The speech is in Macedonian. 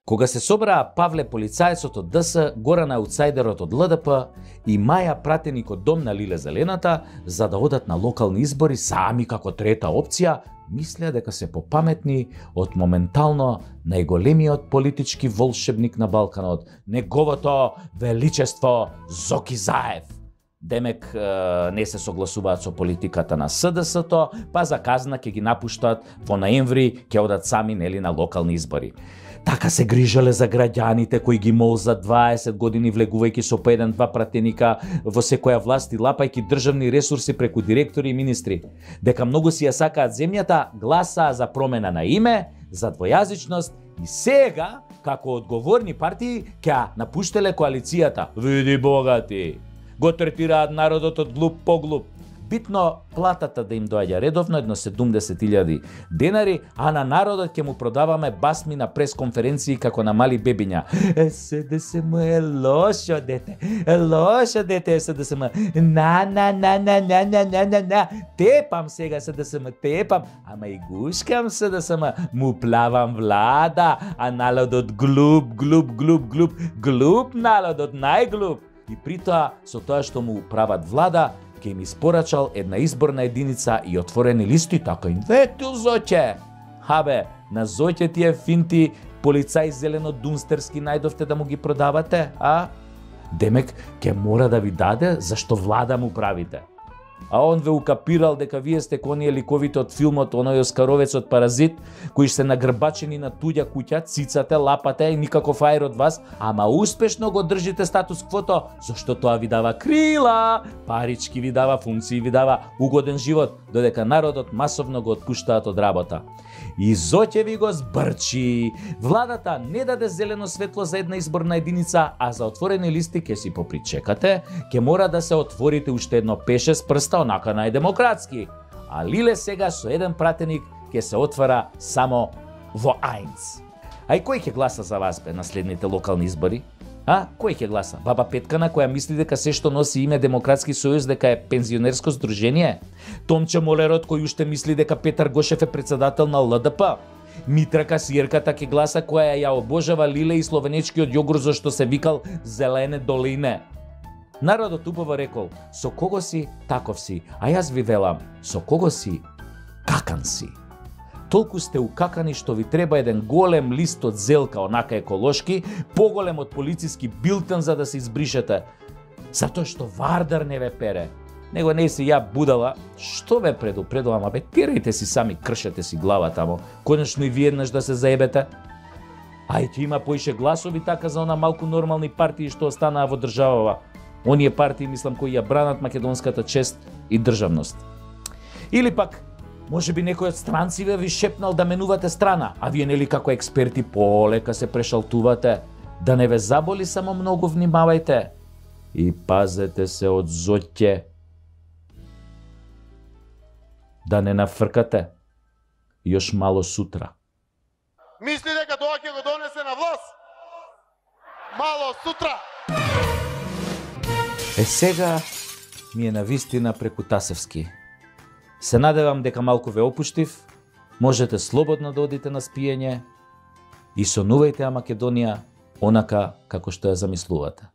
Кога се собраа Павле полицајецот од ДС, Горан аутсайдерот од ЛДП и Маја пратеник од Дом на Лиле Зелената за да одат на локални избори сами како трета опција, мислеа дека се попаметни од моментално најголемиот политички волшебник на Балканот, неговото величество Зоки Заев. Демек не се согласуваат со политиката на СДС-то, па за казна ќе ги напуштат во ноември, ќе одат сами нели на локални избори. Така се грижале за граѓаните кои ги мол за 20 години влегувајќи со по 1-2 пратеника во секоја власт и лапајќи државни ресурси преку директори и министри. Дека многу си ја сакаат земјата, гласаа за промена на име, за двојазичност и сега, како одговорни партии, ќе напуштеле коалицијата. Види богати! Го третираат народот од глуп по глуп. Битно платата да им доаѓа редовно, едно 70.000 денари, а на народот ќе му продаваме басми на пресконференции како на мали бебиња. СДСМ е лошо дете, СДСМ. На. Тепам сега СДСМ, тепам, ама и гушкам СДСМ, му плавам влада, а народот глуп, народот најглуп. И притоа, со тоа што му прават влада, ќе им испорачал една изборна единица и отворени листи, така им ветил Зоќе. Хабе, на Зоќе тие финти полицај зелено-дунстерски најдовте да му ги продавате, а? Демек, ќе мора да ви даде зашто влада му правите. А он ве укапирал дека вие сте коние ликовите од филмот, оној оскаровецот Паразит, кои се нагрбачени на туѓа куќа, цицате, лапате и никаков аер од вас, ама успешно го држите статус квото, зашто тоа ви дава крила, парички ви дава, функции ви дава, угоден живот, додека народот масовно го отпуштаат од работа. И Зоќе ви го збрчи. Владата не даде зелено светло за една изборна единица, а за отворени листи ќе си попричекате, ќе мора да се отворите уште едно пеше с прста онака најдемократски. А Лиле сега со еден пратеник ќе се отвара само во Ајнц. А и кој ќе гласа за вас бе на следните локални избори? А? Кој ќе гласа? Баба Петкана која мисли дека се што носи име Демократски сојуз дека е пензионерско здружение? Томче Молерот кој уште мисли дека Петар Гошев е председател на ЛДП? Митра Касиерката ќе гласа која ја обожава Лиле и словенечкиот јогурт зашто се викал Зелене долине. Народот убаво рекол, со кого си, таков си, а јас ви велам, со кого си, какан си. Толку сте укакани што ви треба еден голем лист од зелка, онака еколошки, поголем од полициски билтен за да се избришете. Затоа што Вардар не ве пере. Него не си ја будала, што ве предупредувам, абе тирајте си сами, кршете си глава тамо, конечно и ви еднаш да се заебете. Ајде има поише гласови така за она малку нормални партии што останаа во државава. Оние партии, мислам, кои ја бранат македонската чест и државност. Или пак, може би некој од странциве ви шепнал да менувате страна, а вие нели како експерти полека се прешалтувате. Да не ве заболи, само многу внимавајте. И пазете се од Зоќе. Да не нафркате. Још мало сутра. Мисли дека тоа ќе го донесе на власт? Мало сутра. Сега ми е навистина преку Тасевски. Се надевам дека малку ве опуштив, можете слободно да одите на спиење и сонувајте ја Македонија онака како што ја замислувате.